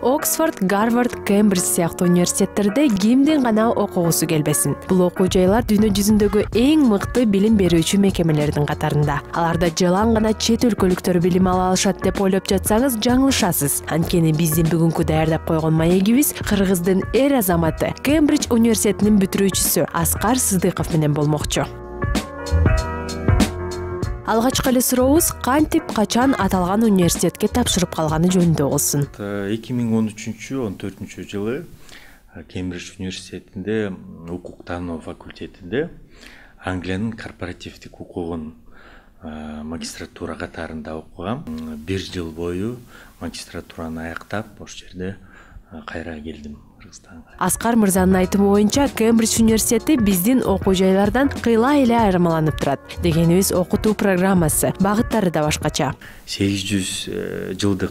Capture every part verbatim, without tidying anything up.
Оксфорд, Гарвард, Кембридж сыяктуу университеттерде кимдин гана окугусу келбесин. Бул окуу жайлар дүйнө жүзүндөгү эң мыкты билим берүүчү мекемелердин катарында. Аларда жалаң гана чет өлкөлүктөр билим ала алышат деп ойлоп жатсаңыз жаңылышасыз. Анткени биздин бүгүнкү даярдап койгон маегибиз Кыргыздын эр азаматы, Кембридж университетинин бүтүрүүчүсү Аскар Сыдыков менен болмокчу. Алгачкы эле сурообуз кантип, качан аталган университетке тапшырып калганы жөнүндө болсун. эки миң он үчүнчү он төртүнчү жылы Кембридж университетинде укуктануу факультетинде Англиянын корпоративдик укугун магистратура катарында окугам. Бир жыл бою магистратураны аяктап, ошол жерде кайра келдим Кыргызстанга. Аскар мырзанын айтымы боюнча, Кембридж университети биздин окуу жайлардан кыйла эле айырмаланып турат. Дегенибиз, окутуу программасы, багыттары да башкача. сегиз жүз жылдык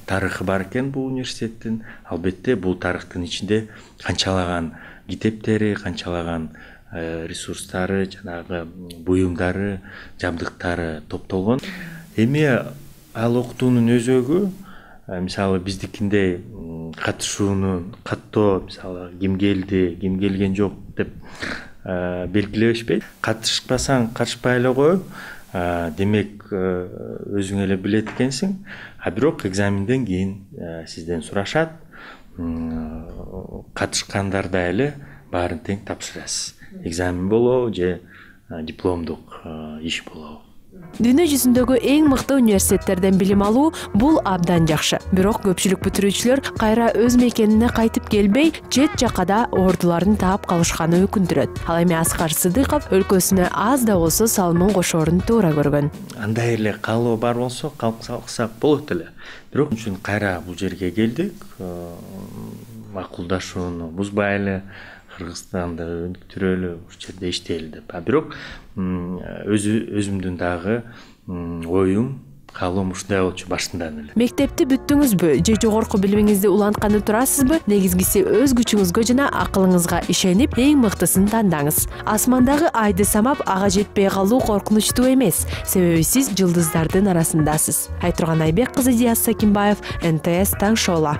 тарыхы бар экен бул университеттин. Албетте, бул тарыхтын ичинде канчалаган китептери, канчалаган ресурстары, жанагы буюмдары, жабдыктары топтолгон. Эми ал окутуунун өзөгү, мисалы биздикиндей катышууну каттоо, мисалы ким келди, ким келген жок деп белгилебешпейт. Катышпасаң катышпай эле кой, демек өзүң эле билет экенсиң. А бирок экзаменден кийин сизден сурашат, катышкандарда эле баарын тең тапшырасыз. Экзамен болобу же дипломдук иш болобу. Дүйнө жүзүндөгү эң мыкты университеттерден билим алуу бул абдан жакшы. Бирок көпчүлүк бүтүрүүчүлөр кайра өз мекенине кайтып келбей, чет жакада ордуларын таап калышканы өкүндүрөт. Ал эми Аскар Сыдыков өлкөсүнө аз да болсо салымын кошоорун туура көргөн. Андай эле каалоо бар болсо калсак болот эле. Бирок үчүн кайра бул жерге келдик. Макулдашууну бузбай эле Кыргызстанды өнүктүрөлү, ушул жерде иштейли деп. А бирок өзүмдүн дагы оюм, каалоом ушундай болчу башынан эле. Мектепти бүттүңүзбү же жогорку билимиңизди улантканы турасызбы? Негизгиси өз күчүңүзгө жана акылыңызга ишенип, эң мыктысын тандаңыз. Асмандагы айды самап, ага жетпей калуу коркунучтуу эмес, себеби сиз жылдыздардын арасындасыз. Айтурган Айбек кызы, Диас Сакимбаев, эн тэ эс таң шоула.